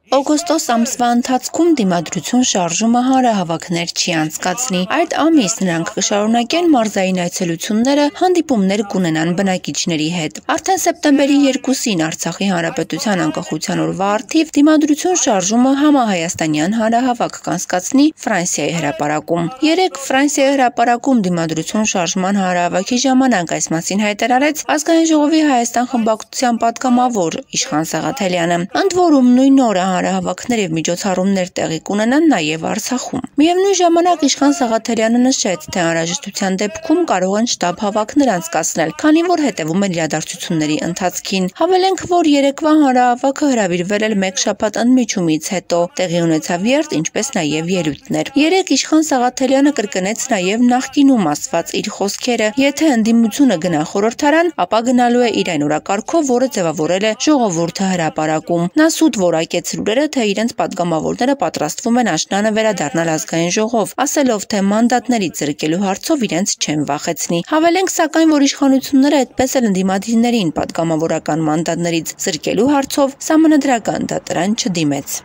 Օգոստոս ամսվա ընթացքում դիմադրություն շարժումը հանրահավաքներ չի անցկացնի։ Այդ ամիս նրանք կշարունակեն մարզային այցելությունները, հանդիպումներ կունենան բնակիչների հետ։ Արդեն սեպտեմբերի 2-ին Արցախի Հանրապետության անկախության օրվա առթիվ դիմադրություն շարժումը համահայաստանյան հանրահավաք կանցկացնի Ֆրանսիայի հրապարակում։ Երեկ Ֆրանսիայի հրապարակում դիմադրություն շարժման հանրահավաքի ժամանակ այս մասին հայտարարեց Ազգային ժողովի Հայաստան խմբակցության պատգամավոր Իշխան Սաղաթելյանը։ Ընդ որում նույն օրը հանրահավաքներ եւ միջոցառումներ տեղի կունենան նաեւ Արցախում։ Միևնույն ժամանակ Իշխան Սաղաթելյանը նշեց, թե անհրաժեշտության դեպքում կարող են շտաբ հավաքներ անցկացնել, քանի որ հետևում են իրադարձությունների ընթացքին։ Հավելենք, որ երեկվա հանրահավաքը հրավիրվել էր մեկ շաբաթ ընդմիջումից հետո, տեղի ունեցավ երթ, ինչպես նաեւ ելույթներ։ Երեկ Իշխան Սաղաթելյանը կրկնեց նաեւ նախկինում ասված իր խոսքերը. եթե ընդդիմությունը գնա խորհրդարան, ապա գնալու է իր այն օրակարգով, որը ձևավորել է ժողովուրդը հրապարակում։ Նա սուտ որակեց լուրերը, թե իրենց պատգամավորները պատրաստվում են աշնանը վերադառնալ Ազգային ժողով, ասելով, թե մանդատներից զրկելու հարցով իրենց չեն վախեցնի։ Հավելենք, սակայն, որ իշխանությունները այդպես էլ ընդդիմադիրներին պատգամավորական մանդատներից զրկելու հարցով սահմանադրական դատարան չդիմեց։